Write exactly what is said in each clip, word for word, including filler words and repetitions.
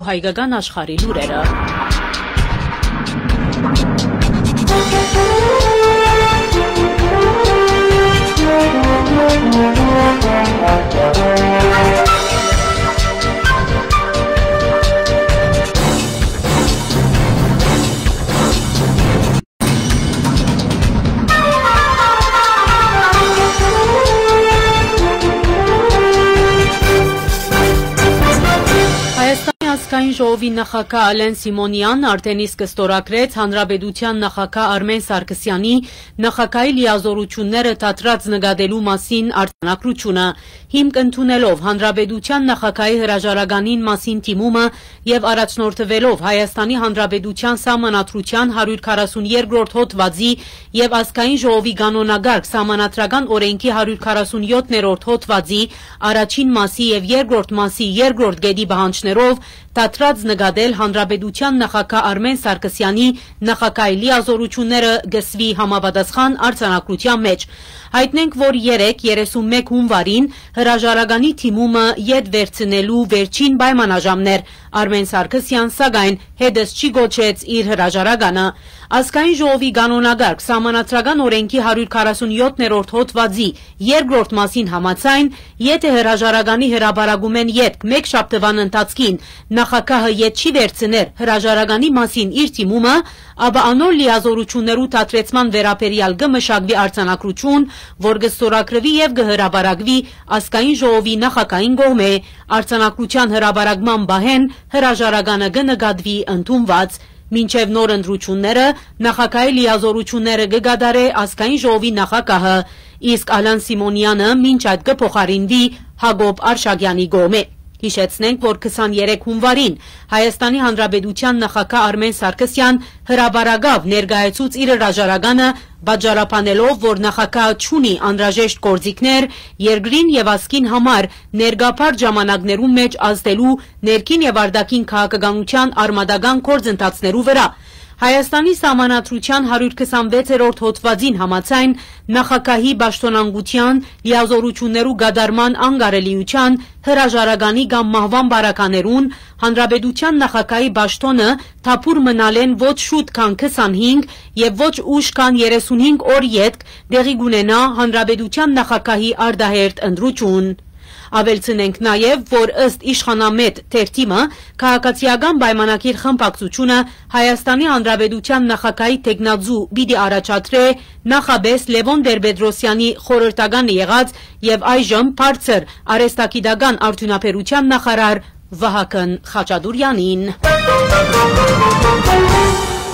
Հայկական աշխարհի լուրերը։ Հայաստանի ազգային ժողովի նախագահ Ալեն Սիմոնեան արդէն իսկ ստորագրեց հանրապետության նախագահ Արմէն Սարգսեանի նախագահի լիազօրութիւնները դադրած նկատելու մասին արձանագրութիւնը, հիմք ընդունելով հանրապետության նախագահի հրաժարականին մասին դիմումը եւ առաջնորդուելով Հայաստանի Հանրապետության սահմանադրության հարիւր քառասուն երկրորդ հոդուածի եւ ազգային ժողովի կանոնակարգ սահմանադրական օրէնքի հարիւր քառասուն յոթերորդ հոդուածի առաջին մասի եւ երկրորդ մասի երկրորդ կետի պահանջներով դադրած նկատել հանրապետության նախագահ Արմէն Սարգսեանի նախագահի լիազօրութիւնները կսուի համապատասխան արձանագրութեան մէջ։ Յայտնենք, որ երեկ, երեսունմէկ հունուարին, հրաժարականի դիմումը ետ վերցնելու վերջին պայմանաժամն էր։ Արմէն Սարգսեան, սակայն, յետս չի կոչեց իր հրաժարականը։ Ազգային ժողովի կանոնակարգ սահմանադրական օրէնքի հարիւր քառասուն յոթերորդ հոդուածի երկրորդ մասին համաձայն, եթէ հրաժարականի հրապարակումէն ետք մէկ շաբթուան ընթացքին նախագահը ետ չի վերցներ հրաժարականի մասին իր դիմումը, ապա անոր լիազօրութիւններու դադրեցման վերաբերեալ կը մշակուի արձանագրութիւն, որ կը ստորագրուի եւ կը հրապարակուի ազգային ժողովի նախագահին կողմէ։ Արձանագրութեան հրապարակման պահէն հրաժարականը կը նկատուի ընդունուած։ Մինչեւ նոր ընտրութիւնները նախագահի լիազօրութիւնները կը կատարէ ազգային ժողովի նախագահը, իսկ Ալեն Սիմոնեանը մինչ այդ կը փոխարինուի Յակոբ Արշակեանի կողմէ։ Յիշեցնենք, որ քսաներեք հունուարին Հայաստանի Հանրապետության նախագահ Արմէն Սարգսեան հրապարակաւ ներկայացուց իր հրաժարականը, պատճառաբանելով, որ նախագահը չունի անհրաժեշտ գործիքներ երկրին եւ ազգին համար ներկա բարդ ժամանակներուն մէջ ազդելու ներքին եւ արտաքին քաղաքականութեան արմատական գործընթացներու վրայ։ Հայաստանի սահմանադրության հարիւր քսանվեցերորդ հոդուածին համաձայն, նախագահի պաշտօնանկութեան, լիազօրութիւններու կատարման անկարելիութեան, հրաժարականի կամ մահուան պարագաներուն հանրապետության նախագահի պաշտօնը թափուր մնալէն ոչ շուտ քան քսանհինգ եւ ոչ ուշ քան երեսունհինգ օր ետք տեղի կունենայ հանրապետության նախագահի արտահերթ ընտրութիւն։ Աւելցնենք նաեւ, որ ըստ իշխանամետ թերթի մը, քաղաքացիական պայմանագիր խմբակցութիւնը Հայաստանի Հանրապետության նախագահի թեկնածու պիտի առաջադրէ նախապէս Լեւոն Տեր-Պետրոսեանի խորհրդականը եղած եւ այժմ բարձր արհեստագիտական արդիւնաբերութեան նախարար Վահագն Խաչատուրեանին։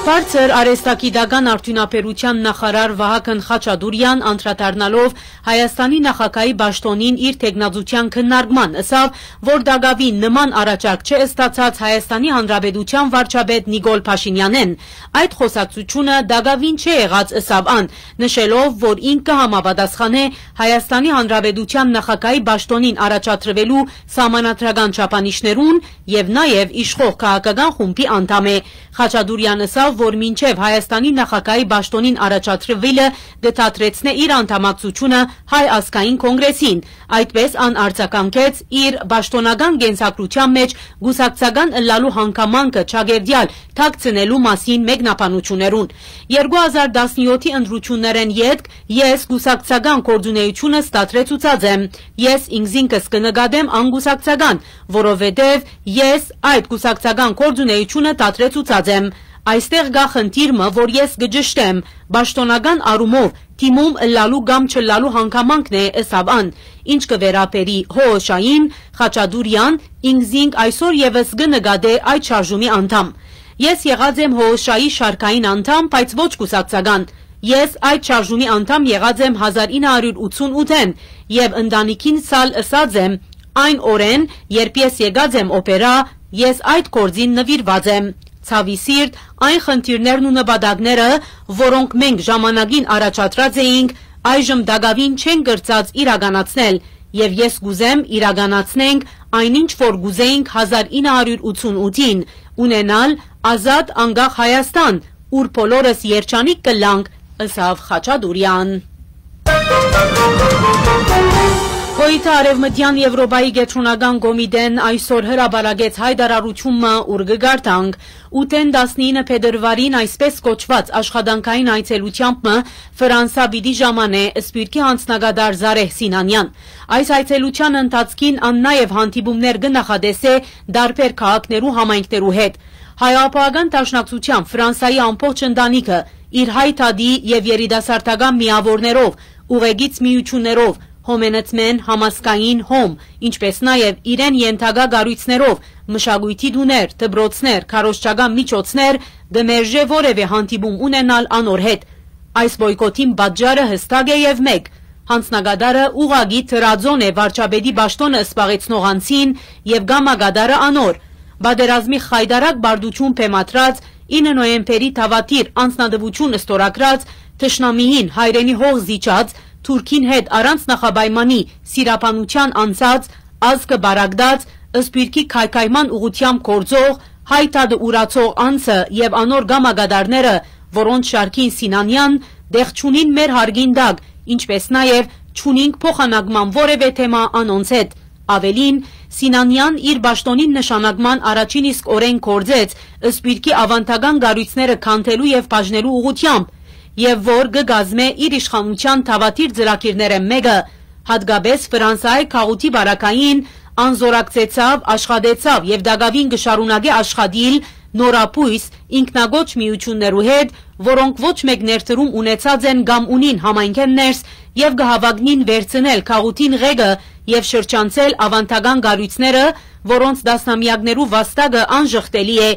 Բարձր արհեստագիտական արդիւնաբերութեան նախարար Վահագն Խաչատուրեան, անդրադառնալով Հայաստանի նախագահի պաշտօնին իր թեկնածութեան քննարկման, ըսաւ, որ տակաւին նման առաջարկ չէ ստացած Հայաստանի Հանրապետության վարչապետ Նիկոլ Փաշինեանէն։ Այդ խօսակցութիւնը տակաւին չէ եղած, ըսաւ ան, նշելով, որ ինք կը համապատասխանէ Հայաստանի Հանրապետության նախագահի պաշտօնին առաջադրուելու սահմանադրական չափանիշներուն եւ նաեւ իշխող քաղաքական խումբի անդամ է։ Խաչատուրեան ըսաւ, որ մինչեւ Հայաստանի նախագահի պաշտօնին առաջադրուիլը կը դադրեցնէ իր անդամակցութիւնը Հայ ազգային կոնգրեսին։ Այդպէս ան արձագանքեց իր պաշտօնական կենսագրութեան մէջ կուսակցական ըլլալու հանգամանքը չակերտեալ թաքցնելու մասին մեկնաբանութիւններուն։ Երկու հազար տասնեօթի ընտրութիւններէն ետք ես կուսակցական գործունեութիւնս դադրեցուցած եմ։ Ես ինքզինքս կը նկատեմ անկուսակցական, որովհետեւ ես այդ կուսակցական գործունեութիւնը դադրեցուցած եմ։ Այստեղ կայ խնդիր մը, որ ես կը ճշտեմ, պաշտօնական առումով դիմում ըլլալու կամ չըլլալու հանգամանքն է, ըսաւ ան։ Ինչ կը վերաբերի Հ Օ Շ-ին, Խաչատուրեան ինքզինք այսօր եւս կը նկատէ այդ շարժումի անդամ։ Ես եղած եմ Հ Օ Շ-ի շարքային անդամ, բայց ոչ կուսակցական։ Ես այդ շարժումի անդամ եղած եմ հազար ինը հարիւր ութսուն ութ-էն եւ ընտանիքին սալ ըսած եմ, այն օրէն, երբ ես եկած եմ օպերա, ես այդ գործին նուիրուած եմ։ Ցաւի սիրտ, այն խնդիրներն ու նպատակները, որոնք մենք ժամանակին առաջադրած էինք, այժմ տակաւին չեն կրցած իրականացնել, եւ ես կ'ուզեմ իրականացնենք այնինչ որ կ'ուզեինք հազար ինը հարիւր ութսուն ութին, ունենալ ազատ անկախ Հայաստան, ուր բոլորս երջանիկ կ'ըլլանք, ըսաւ Խաչատուրեան։ Հոյթը Արեւմտեան Եւրոպայի Կեդրոնական Կոմիտէն այսօր հրապարակեց յայտարարութիւն մը, ուր կը կարդանք. «Ութէն տասնինը փետրուարին» այսպես կոչուած աշխատանքային այցելութեամբ մը Ֆրանսա պիտի ժամանէ Սփիւռքի յանձնակատար Զարեհ Սինանեան։ Այս այցելութեան ընթացքին ան նաեւ հանդիպումներ կը նախատեսէ տարբեր քաղաքներու համայնքներու հետ։ Հայ Աղբողական Դաշնակցութեան Ֆրանսայի ամբողջ ընտանիքը իր հայ դատի եւ երիտասարդական միաւորներով, ուղեկից միութիւններով, Հոմենեցմէն, Համազգային Հոմ, ինչպէս նաեւ իրեն ենթակայ կառոյցներով, մշակոյթի տուներ, դպրոցներ, քարոզչական միջոցներ, կը մերժէ որեւէ հանդիպում ունենալ անոր հետ։ Այս պոյկոթին պատճառը յստակ է եւ մէկ. յանձնակատարը ուղղակի դրածոն է վարչապետի պաշտօնը զբաղեցնող անձին եւ կամակատարը անոր։ Պատերազմի խայտառակ պարտութիւն բեմադրած, ինը նոյեմբերի դաւադիր անձնատուութիւն ստորագրած, թշնամիին հայրենի հող զիջած, Թուրքին հետ առանց նախապայմանի սիրաբանութեան անցած, ազգը պարագտած, Սփիւռքի քայքայման ուղղութեամբ գործող, հայ դատը ուրացող անձը եւ անոր կամակատարները, որոնց շարքին Սինանեան, տեղ չունին մեր հարգին տակ, ինչպէս նաեւ չունինք փոխանակման որեւէ թեմայ անոնց հետ։ Աւելին, Սինանեան իր պաշտօնին նշանակման առաջին իսկ օրէն գործեց Սփիւռքի աւանդական կառոյցները քանդելու եւ բաժնելու ուղղութեամբ, եւ որ կը կազմէ իր իշխանութեան դաւադիր ծրագիրներէն մէկը, յատկապէս Ֆրանսայի գաղութի պարագային, ան զօրակցեցաւ, աշխատեցաւ եւ տակաւին կը շարունակէ աշխատիլ նորաբոյս ինքնակոչ միութիւններու հետ, որոնք ոչ մէկ ներդրում ունեցած են կամ ունին համայնքէն ներս եւ կը հաւագնին վերցնել գաղութին ղեկը եւ շրջանցել աւանդական կառոյցները, որոնց տասնամեակներու վաստակը անժխտելի է։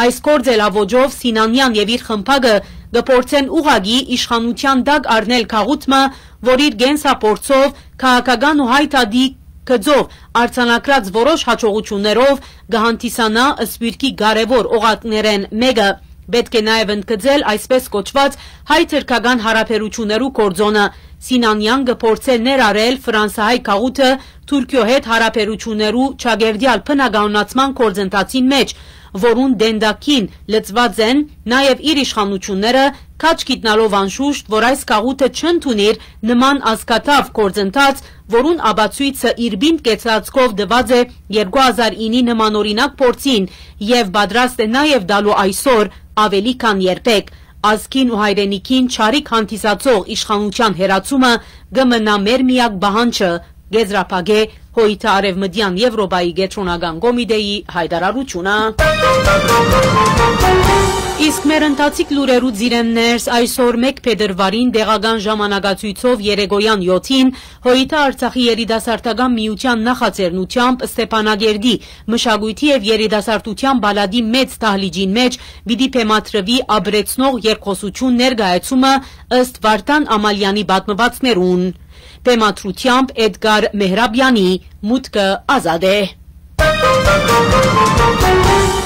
Այս գործելաոճով Սինանեան եւ իր խմբակը կը փորձեն ուղղակի իշխանութեան տակ առնել գաղութ մը, որ իր կենսափորձով, քաղաքական ու հայ դատի գծով արձանագրած որոշ յաջողութիւններով կը հանդիսանայ Սփիւռքի կարեւոր օղակներէն մէկը։ Պէտք է նաեւ ընդգծել այսպես կոչուած հայ-թրքական յարաբերութիւններու գործօնը։ Սինանեան կը փորձէ ներառել ֆրանսահայ գաղութը Թուրքիոյ հետ յարաբերութիւններու ճակերտեալ բնականոնացման գործընթացին մէջ, որուն դենդակին լծուած են նաեւ իր իշխանութիւնները, քաջ գիտնալով անշուշտ, որ այս գաղութը չընդունիր նման ազգաթաւ գործընթաց, որուն ապացոյցը իր պինդ կեցածքով տուած է երկու հազար իննի նմանօրինակ փորձին եւ պատրաստ է նաեւ տալու այսօր աւելի քան երբեք։ Ազգին ու հայրենիքին չարիք հանդիսացող իշխանութեան հեռացումը կը մնայ մեր միակ պահանջը, կ'եզրափակէ Հոյթը Արեւմտեան Եվրոպայի Կեդրոնական Կոմիտէի յայտարարութիւնը։ Իսկ մեր ընթացիկ լուրերու ծիրէն ներս, այսօր մէկ փետրուարին տեղական ժամանակացոյցով երեկոյան յոթին Հոյթը Արցախի երիտասարդական միութեան նախաձեռնութեամբ Ստեփանակերտի մշակոյթի եւ երիտասարդութեան պալատի մեծ դահլիճին մէջ պիտի բեմադրուի ապրեցնող երկխօսութիւն ներկայացումը ըստ Վարդան Ամալեանի պատմուածքներուն։ Բեմադրութեամբ Էդգար Մեհրաբեանի մուտքը ազատ է։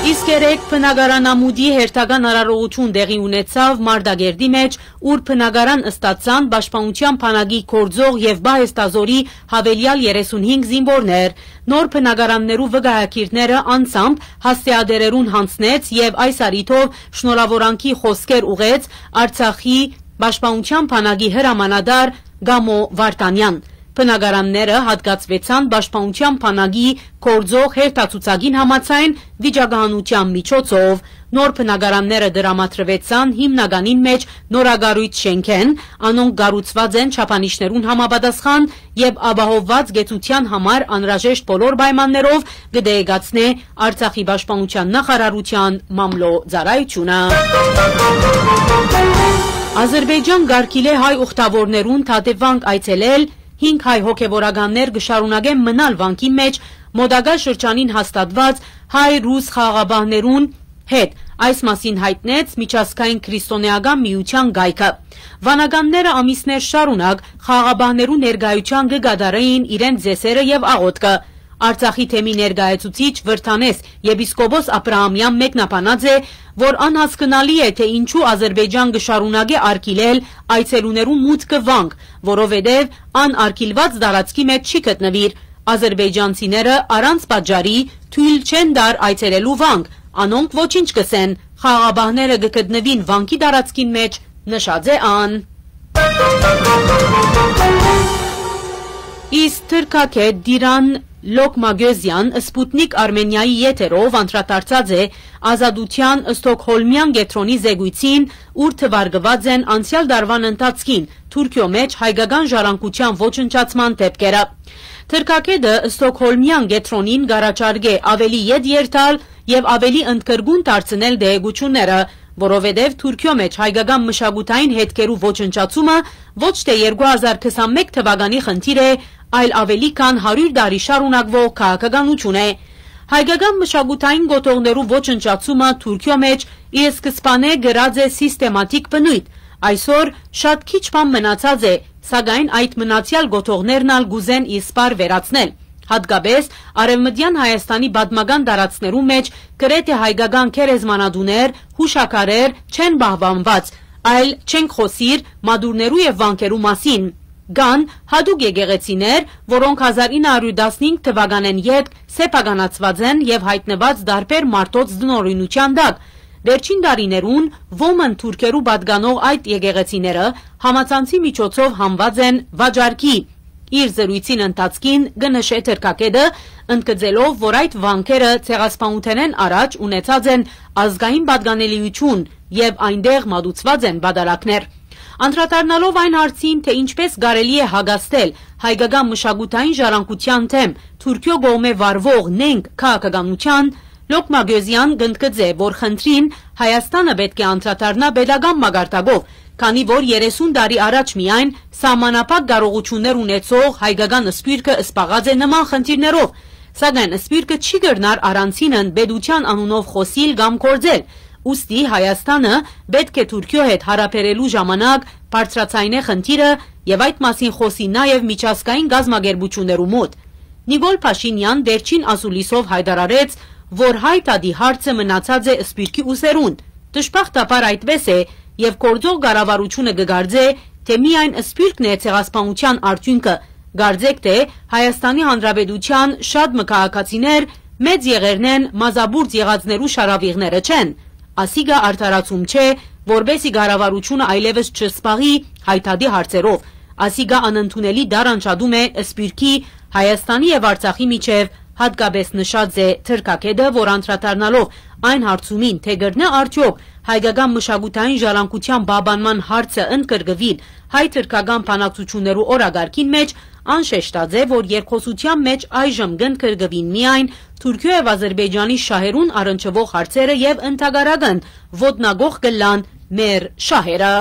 Իսկ երեկ բնակարանամուտի հերթական արարողութիւն տեղի ունեցաւ Մարտակերտի մէջ, ուր բնակարան ստացան պաշտպանութեան բանակի գործող եւ պահեստազօրի յաւելեալ երեսունհինգ զինուորներ։ Նոր բնակարաններու վկայագիրները անձամբ հասցեատերերուն յանձնեց եւ այս առիթով շնորհաւորանքի խօսքեր ուղղեց Արցախի պաշտպանութեան բանակի հրամանատար Գամո Վարդանեան։ Բնակարանները յատկացուեցան պաշտպանութեան բանակի գործող հերթացուցակին համաձայն վիճակահանութեան միջոցով։ Նոր բնակարանները տրամադրուեցան հիմնականին մէջ նորակառոյց շէնքէն, անոնք կառուցուած են չափանիշներուն համապատասխան եւ ապահովուած կեցութեան համար անհրաժեշտ բոլոր պայմաններով, կը տեղեկացնէ Արցախի պաշտպանութեան նախարարութեան մամլոյ ծառայութիւնը։ Ազրպէյճան կ'արգիլէ հայ ուխտաւորներուն դատեվանք այցելել, հինգ հայ հոգեւորականներ կը շարունակեն մնալ վանքի մէջ մօտակայ շրջանին հաստատուած հայ-ռուս խաղաղապահներուն հետ։ Այս մասին յայտնեց Միջազգային քրիստոնէական միութեան կայքը։ Վանականները ամիսներ շարունակ խաղաղապահներու ներկայութեան կը կատարէին իրենց ծեսերը եւ աղօթքը։ Արցախի թեմի ներկայացուցիչ Վրթանես եպիսկոպոս Աբրահամեան մեկնաբանած է, որ անհասկնալի է, թէ ինչու Ազրպէյճան կը շարունակէ արգիլել այցելուներուն մուտքը վանք, որովհետեւ ան արգիլուած տարածքի մէջ չի գտնուիր։ Ազրպէյճանցիները առանց պատճառի թոյլ չեն տար այցելելու վանք, անոնք ոչինչ կ'ըսեն, խաղաղապահները կը գտնուին վանքի տարածքին մէջ, նշած է ան։ Իսկ թրքագէտ Տիրան Լոկմագեզեան Սպուտնիկ Արմենիայի եթերով անդրադարձած է Ազատութեան Ստոկհոլմեան կեդրոնի զեկոյցին, ուր թուարկուած են անցեալ տարուան ընթացքին Թուրքիոյ մէջ հայկական ժառանգութեան ոչնչացման դէպքերը։ Թրքագէտը Ստոկհոլմեան կեդրոնին կ'առաջարկէ աւելի ետ երթալ եւ աւելի ընդգրկուն դարձնել տեղեկութիւնները, որովհետեւ Թուրքիոյ մէջ հայկական մշակութային հետքերու ոչնչացումը ոչ թէ երկու հազար քսանմէկ թուականի խնդիր է, այլ աւելի քան հարիւր տարի շարունակուող քաղաքականութիւն է։ Հայկական մշակութային կոթողներու ոչնչացումը Թուրքիոյ մէջ ի սկզբանէ կրած է սիստեմատիկ բնոյթ։ Այսօր շատ քիչ բան մնացած է, սակայն այդ մնացեալ կոթողներն ալ կ'ուզեն ի սպառ վերացնել։ Յատկապէս Արեւմտեան Հայաստանի պատմական տարածքներու մէջ գրեթէ հայկական գերեզմանատուներ, յուշաքարեր չեն պահպանուած, այլ չենք խօսիր մատուռներու եւ վանքերու մասին։ Կան յատուկ եկեղեցիներ, որոնք հազար ինը հարիւր տասնհինգ թուականէն ետք սեփականացուած են եւ յայտնուած տարբեր մարդոց տնօրինութեան տակ։ Վերջին տարիներուն Ոմն թուրքերու պատկանող այդ եկեղեցիները համացանցի միջոցով հանուած են վաճառքի։ Իր զրոյցին ընթացքին կը նշէ թրքագէտը, ընդգծելով, որ այդ վանքերը ցեղասպանութենէն առաջ ունեցած են ազգային պատկանելիութիւն եւ այնտեղ մատուցուած են պատարագներ։ Անդրադառնալով այն հարցին, թէ ինչպէս կարելի է հակազդել հայկական մշակութային ժառանգութեան դէմ Թուրքիոյ կողմէ վարուող նենգ քաղաքականութեան, Լոկմագեզեան կ'ընդգծէ, որ խնդրին Հայաստանը պէտք է անդրադառնայ պետական մակարդակով, քանի որ երեսուն տարի առաջ միայն սահմանափակ կարողութիւններ ունեցող հայկական սփիւռքը զբաղած է նման խնդիրներով, սակայն սփիւռքը չի կրնար առանցինն պետութեան անունով խօսիլ կամ գործել, ուստի Հայաստանը պէտք է Թուրքիոյ հետ յարաբերելու ժամանակ բարձրաձայնէ խնդիրը եւ այդ մասին խօսի նաեւ միջազգային կազմակերպութիւններու մօտ։ Նիկոլ Փաշինեան վերջին ասուլիսով յայտարարեց, որ հայ դատի հարցը մնացած է սփիւռքի ուսերուն։ Դժբախտաբար այդպէս է, եւ գործող կառավարութիւնը կը կարծէ, թէ միայն սփիւռքն է ցեղասպանութեան արդիւնքը։ Կարծէք թէ Հայաստանի Հանրապետութեան շատ մը քաղաքացիներ մեծ եղերնէն մազապուրծ եղածներու շարաւիղները չեն։ Ասիկա արդարացում չէ, որպէսզի կառավարութիւնը այլեւս չզբաղի հայ դատի հարցերով։ Ասիկա անընդունելի դարանշատում է սփիւռքի, Հայաստանի եւ Արցախի միջեւ, յատկապէս նշած է թրքագէտը, որ անդրադառնալով այն հարցումին, թէ կրնայ արդեօք հայկական մշակութային ժառանգութեան պահպանման հարցը ընդգրկուիլ հայ-թրքական բանակցութիւններու օրակարգին մէջ, ան շեշտած է, որ երկխօսութեան մէջ այժմ կընդգրկուին միայն Թուրքիոյ եւ Ադրբեջանի շահերուն առնչուող հարցերը եւ ընդհակառակն ոտնակոխ կ'ըլլան մեր շահերը։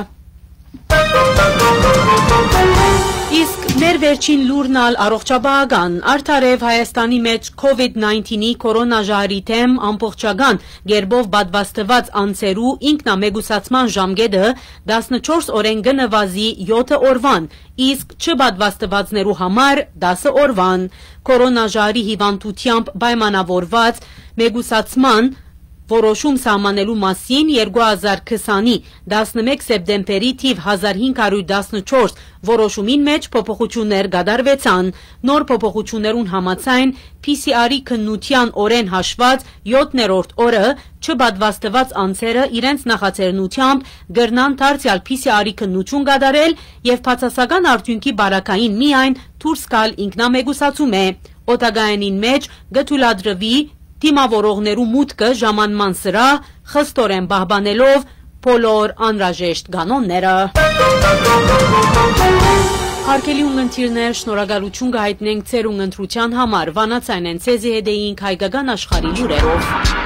Իսկ մեր վերջին լուրն ալ առողջապահական։ Արդարեւ Հայաստանի մէջ COVID nineteen-ի կորոնաժահրի դէմ ամբողջական կերպով պատվաստուած անձերու ինքնամեկուսացման ժամկէտը տասնչորս օրէն կը նուազի եօթը օրուան, իսկ չպատվաստուածներու համար տասը օրուան։ Կորոնաժահրի հիւանդութեամբ պայմանաւորուած մեկուսացման որոշում սահմանելու մասին երկու հազար քսանի տասնմէկ սեպտեմբերի թիվ հազար հինգ հարիւր տասնչորս որոշումին մէջ փոփոխութիւններ կատարուեցան։ Նոր փոփոխութիւններուն համաձայն P C R-ի քննութեան օրէն հաշուած եօթներորդ օրը չպատվաստուած անձերը իրենց նախաձեռնութեամբ կրնան դարձեալ P C R-ի քննութիւն կատարել եւ բացասական արդիւնքի պարագային միայն դուրս գալ ինքնամեկուսացում է։ Օդակայանին մէջ կը թոյլատրուի դիմաւորողներու մուտքը ժամանման սրահ, խստորեն պահպանելով բոլոր անհրաժեշտ կանոնները։ Հարգելի ունգընտիրներ, շնորհակալութիւն կը յայտնենք ձեր ունգընտրութեան համար։ Վանաձայնէն ձեզի հետ էինք Հայկական Աշխարհի լուրերով։